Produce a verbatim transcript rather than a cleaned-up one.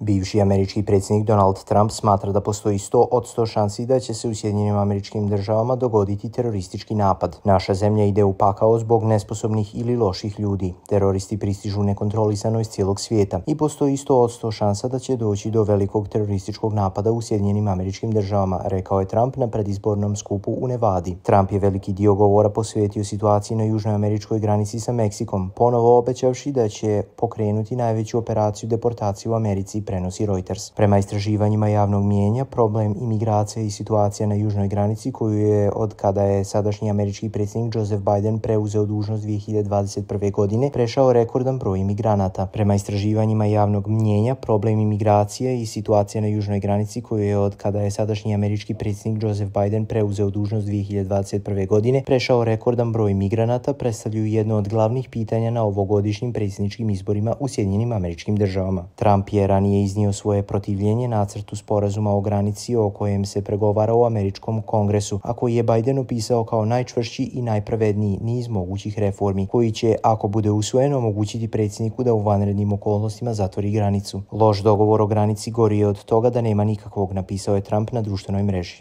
Bivši američki predsjednik Donald Trump smatra da postoji sto od sto šansi da će se u Sjedinjenim Američkim Državama dogoditi teroristički napad. Naša zemlja ide u pakao zbog nesposobnih ili loših ljudi. Teroristi pristižu nekontrolisano iz cijelog svijeta i postoji sto od sto šansa da će doći do velikog terorističkog napada u Sjedinjenim Američkim Državama, rekao je Trump na predizbornom skupu u Nevadi. Trump je veliki dio govora posvetio situaciji na južnoj američkoj granici sa Meksikom, ponovo obećavši da će pokrenuti najveću operaciju deportacije u Americi, prenosi Reuters. Prema istraživanjima javnog mijenja, problem imigracije i situacija na južnoj granici, koju je od kada je sadašnji američki predsjednik Joseph Biden preuzeo dužnost dvije hiljade dvadeset prve. godine, prešao rekordan broj imigranata. Prema istraživanjima javnog mijenja, problem imigracije i situacija na južnoj granici, koju je od kada je sadašnji američki predsjednik Joseph Biden preuzeo dužnost dvije hiljade dvadeset prve. godine, prešao rekordan broj migranata, predstavljaju jedno od glavnih pitanja na ovogodišnjim predsjedničkim izborima u Sjedinjenim Američkim Državama. Trump je ranije iznio svoje protivljenje nacrtu sporazuma o granici o kojem se pregovara u američkom kongresu, a koji je Biden opisao kao najčvršći i najpravedniji niz mogućih reformi, koji će, ako bude usvojen, omogućiti predsjedniku da u vanrednim okolnostima zatvori granicu. Loš dogovor o granici gori je od toga da nema nikakvog, napisao je Trump na društvenoj mreži.